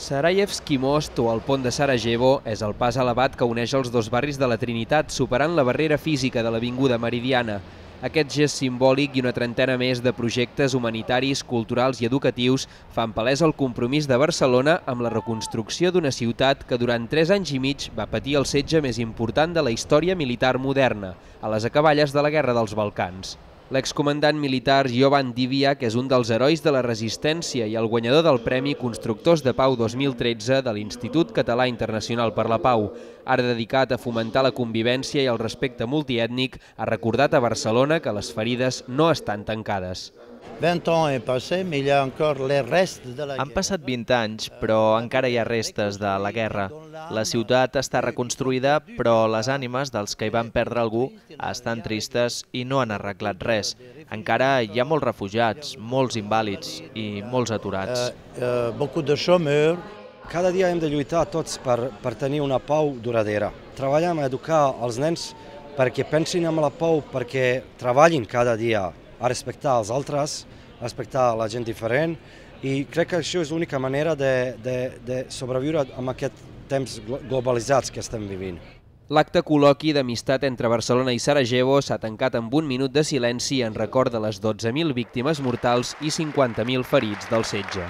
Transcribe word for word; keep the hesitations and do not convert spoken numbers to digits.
Sarajevski Most, o el pont de Sarajevo, és el pas elevat que uneix els dos barris de la Trinitat, superant la barrera física de l'avinguda Meridiana. Aquest gest simbòlic i una trentena més de projectes humanitaris, culturals i educatius fan palès el compromís de Barcelona amb la reconstrucció d'una ciutat que durant tres anys i mig va patir el setge més important de la història militar moderna, a les acaballes de la Guerra dels Balcans. L'excomandant militar Jovan Divjak és un dels herois de la resistència i el guanyador del Premi Constructors de Pau dos mil tretze de l'Institut Català Internacional per la Pau. Ara dedicat a fomentar la convivència i el respecte multiètnic, ha recordat a Barcelona que les ferides no estan tancades. Han passat vint anys, però encara hi ha restes de la guerra. La ciutat està reconstruïda, però les ànimes dels que hi van perdre algú estan tristes i no han arreglat res. Encara hi ha molts refugiats, molts invàlids i molts aturats. Cada dia hem de lluitar tots per, per tenir una pau duradera. Treballem a educar els nens perquè pensin en la pau, perquè treballin cada dia a respectar els altres, a respectar la gent diferent, i crec que això és l'única manera de, de, de sobreviure en aquest temps globalitzats que estem vivint. L'acte col·loqui d'amistat entre Barcelona i Sarajevo s'ha tancat amb un minut de silenci en record de les dotze mil víctimes mortals i cinquanta mil ferits del setge.